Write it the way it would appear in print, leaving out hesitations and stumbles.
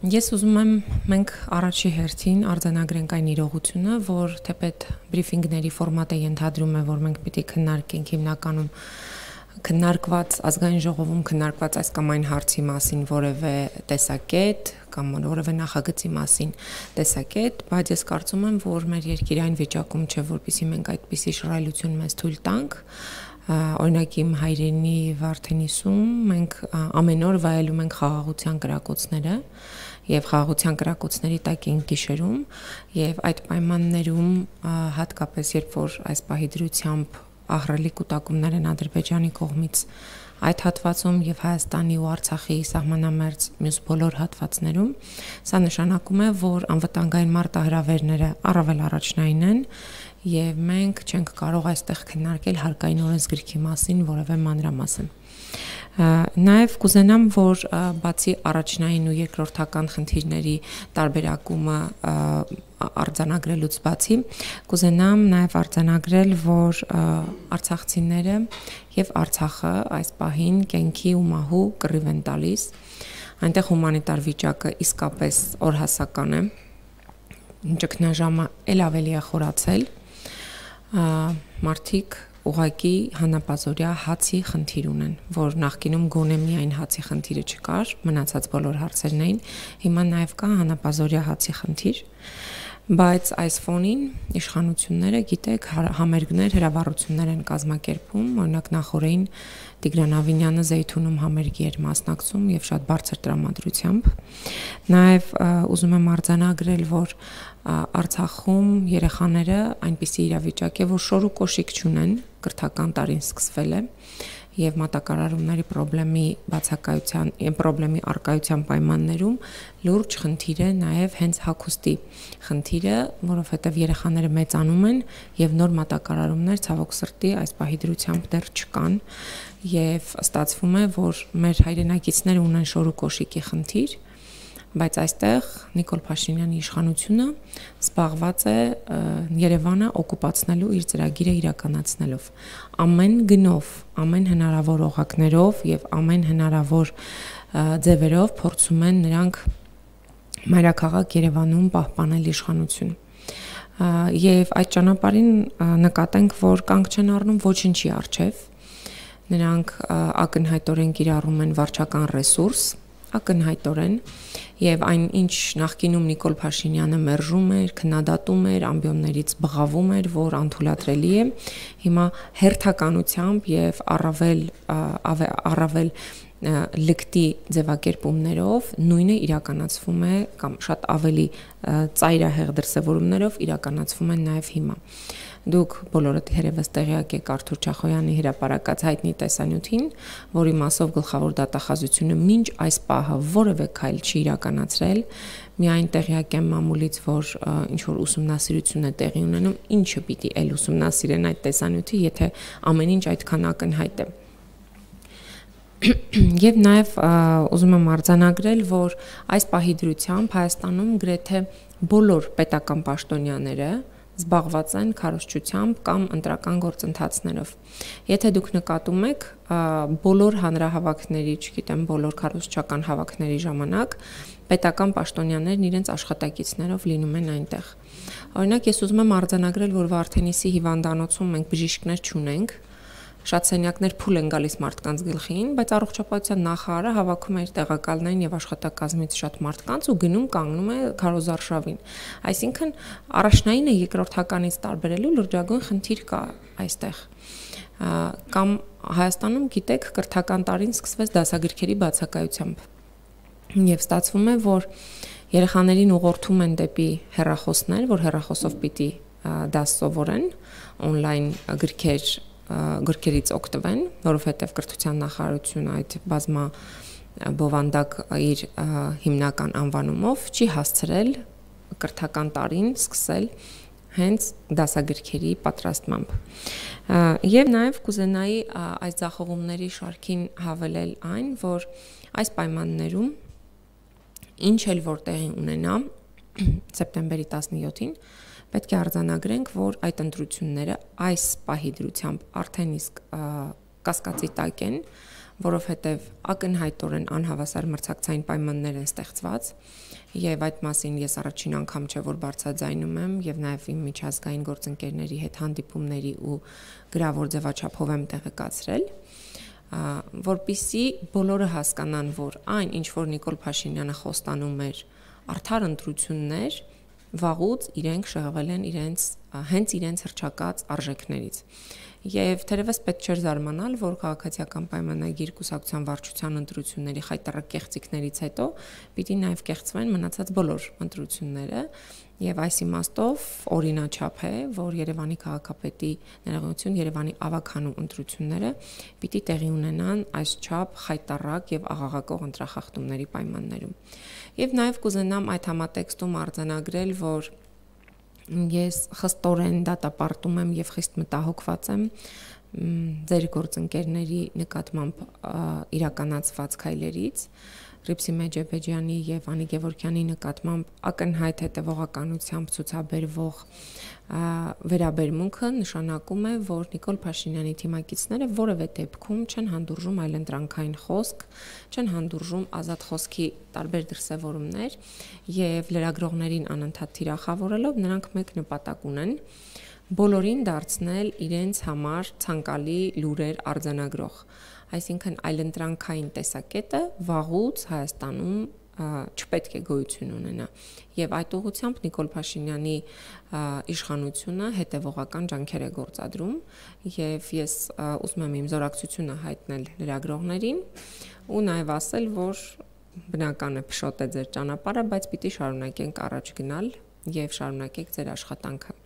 Ես ուզում եմ մենք առաջի հերթին արձանագրենք այն իրողությունը, որ թեպետ բրիֆինգների ֆորմատը ենթադրում է, որ մենք պիտի քննարկենք հիմնականում քննարկված ազգային ժողովում քննարկված այս կամ այն հարցի մասին որևէ տեսակետ կամ որևէ նախագծի մասին տեսակետ, բայց ես կարծում եմ, որ մեր երկիրը այն վիճակում չէ, որպեսզի մենք այդպիսի շռայլություն մեզ թույլ տանք։ Օրինակ իմ հայրենի Վարդենիսում մենք ամեն օր վայելում ենք խաղաղության կրակոցները եւ խաղաղության կրակոցների տակ ենք գիշերում եւ այդ պայմաններում հատկապես երբ որ այս պահի դրությամբ ահռելի կուտակումներ են Ադրբեջանի կողմից այդ հատվածում եւ Հայաստանի ու Արցախի սահմանամերձ մյուս բոլոր հատվածներում սա նշանակում է, որ անվտանգային մարտահրավերները առավել առաջնային են եւ մենք չենք կարող այստեղ քննարկել հարկային օրենսգրքի մասին որևէ մանրամասն։ Նաև կուզենամ, որ բացի առաջնային ու երկրորդական խնդիրների տարբերակումը արձանագրելուց բացի, կուզենամ նաև արձանագրել, որ արցախցիները եւ Արցախը այս պահին կենքի ու մահու կռիվ են տալիս, այնտեղ հումանիտար վիճակը իսկապես օրհասական է, ճգնաժամը ել ավելի է խորացել, մարդիկ ուղղակի հանապազորյա հացի խնդիր ունեն, որ նախկինում գոնե միայն հացի խնդիրը չկար, մնացած բոլոր հարցերն էին, հիմա նաև կա հանապազորյա հացի խնդիր, բայց այս ֆոնին իշխանությունները, գիտեք, համերգներ, հրավառություններ են կազմակերպում, օրինակ նախորդին Տիգրան Ավինյանը Զեյթունում համերգի էր մասնակցում եւ շատ բարձր տրամադրությամբ։ Նաև ուզում եմ արձանագրել, որ Արցախում երեխաները այնպիսի իրավիճակ է, որ շոր ու կոշիկ չունեն, կրթական տարին սկսվել է եւ մատակարարումների պրոբլեմի արկայության պայմաններում լուրջ խնդիր է նաեւ հենց հագուստի խնդիրը, որովհետեւ երեխաները մեծանում են եւ նոր մատակարարումներ ցավոք սրտի այս պահի դրությամբ դեռ չկան եւ ստացվում է, որ մեր հայրենակիցները ունեն շոր ու կոշիկի խնդիր, բայց այստեղ Նիկոլ Փաշինյանի իշխանությունը զբաղված է Երևանը օկուպացնելու իր ծրագիրը իրականացնելով ամեն գնով, ամեն հնարավոր օղակներով եւ ամեն հնարավոր ձևերով փորձում են նրանք մայրաքաղաք Երևանում պահպանել իշխանություն եւ այդ ճանապարհին նկատենք, որ կանգ չեն առնում ոչինչի առջեւ նրանք ակնհայտորեն կիրառում են վարչական ռեսուրս ակնհայտորեն եւ այն ինչ նախկինում Նիկոլ Փաշինյանը մերժում էր, քննադատում էր, ամբիոններից բղավում էր, որ անթույլատրելի է, հիմա հերթականությամբ եւ առավել լկտի ձևակերպումներով նույնը իրականացվում է կամ շատ ավելի ծայրահեղ դրսևորումներով իրականացվում են նաեւ հիմա։ Դուք բոլորդ երևս տեղյակ եք Արթուր Չախոյանի հրապարակած հայտնի տեսանյութին, որի մասով գլխավոր դատախազությունը մինչ այս պահը որևէ քայլ չի իրականացրել, միայն տեղյակ եմ մամուլից, որ ինչ որ ուսումնասիրություն է տեղի ունենում, ինչը պիտի էլ ուսումնասիրեն այդ տեսանյութի, եթե ամեն ինչ այդքան ակնհայտ է։ Եվ նաև ուզում եմ արձանագրել, որ այս պահի դրությամբ Հայաստանում գրեթե բոլոր պետական պաշտոնյաները զբաղված են քարոզչությամբ կամ ընտրական գործընթացներով։ Եթե դուք նկատում եք, բոլոր հանրահավաքների, չգիտեմ, բոլոր քարոզչական հավաքների ժամանակ պետական պաշտոնյաներն իրենց աշխատակիցներով լինում են այնտեղ։ Օրինակ, ես ուզում եմ արձանագրել, որ Վարդենիսի հիվանդանոցում մենք բժիշկներ չունենք, շատ սենյակներ փուլ են գալիս մարդկանց գլխին, բայց առողջապահության նախարարը հավաքում է իր տեղակալներին եւ աշխատակազմից շատ մարդկանց ու գնում կանգնում է քարոզարշավին։ Այսինքն առաջնայինը երկրորդականից տարբերելու լրջագույն խնդիր կա այստեղ։ Կամ Հայաստանում, գիտեք, կրթական տարին սկսվեց դասագրքերի բացակայությամբ։ Եվ ստացվում է, որ երեխաներին ուղղորդում են դեպի հեռախոսներ, որ հեռախոսով պիտի դաս սովորեն, on-line գրքերից օգտվեն, որովհետև կրթության նախարարությունը այդ բազմա բովանդակ իր հիմնական անվանումով չի հասցրել կրթական տարին սկսել հենց դասագրքերի պատրաստմամբ։ Եվ նաև կուզենայի այս ձախողումների շարքին հավելել այն, որ այս պայմաններում ինչ էլ որ տեղի ունենա սեպտեմբերի 17-ին պետք է արձանագրենք, որ այդ ընտրությունները այս պահի դրությամբ արդեն իսկ կասկածի տակ են, որովհետև ակնհայտորեն անհավասար մրցակցային պայմաններ են ստեղծված, եւ այդ մասին ես առաջին անգամ չէ որ բարձրաձայնում եմ եւ նաեւ իմ միջազգային գործընկերների հետ հանդիպումների ու գրավոր ձևաչափով եմ տեղեկացրել, որպիսի բոլորը հասկանան, որ այն, ինչ որ Նիկոլ Փաշինյանը խոստանում էր արդար ընտրություններ, վաղուց իրենք շեղվել են հենց իրենց հռչակած արժեքներից։ Եվ թերևս պետք չէր զարմանալ, որ քաղաքացիական պայմանագիր կուսակցության վարչության ընտրությունների խայտառակ կեղծիքներից հետո պիտի նաև կեղծվեն մնացած բոլոր ընտրությունները, եւ այս իմաստով օրինաչափ է, որ Երևանի քաղաքապետի ներողություն Երևանի ավագանու ընտրությունները պիտի տեղի ունենան այսչափ խայտառակ եւ աղաղակող ընտրախախտումների պայմաններում։ Եվ նաև կուզենամ այդ համատեքստում արձանագրել, որ ես խստորեն դատապարտում եմ եւ խիստ մտահոգված եմ ձեր գործընկերների նկատմամբ իրականացված քայլերից, Ռիփսի Մեջեբեջյանի եւ Անի Գևորգյանի նկատմամբ ակնհայտ հետևողականությամբ ցուցաբերվող վերաբերմունքը նշանակում է, որ Նիկոլ Փաշինյանի թիմակիցները որևէ դեպքում չեն հանդուրժում այլընտրանքային խոսք, չեն հանդուրժում ազատ խոսքի տարբեր դրսևորումներ եւ լրագրողներին անընդհատ թիրախավորելով նրանք մեկ նպատակ ունեն բոլորին դարձնել իրենց համար ցանկալի լուրեր արձանագրող, այսինքն այլընտրանքային տեսակետը վաղուց Հայաստանում չպետք է գոյություն ունենա եւ այդ ուղղությամբ Նիկոլ Փաշինյանի իշխանությունը հետևողական ջանքեր է գործադրում եւ ես ուզում եմ իմ զորակցությունը հայտնել լրագրողներին ու նաեւ ասել, որ բնական է փշոտ է ձեր ճանապարհը, բայց պիտի շարունակենք առաջ գնալ եւ շարունակեք ձեր աշխատանքը։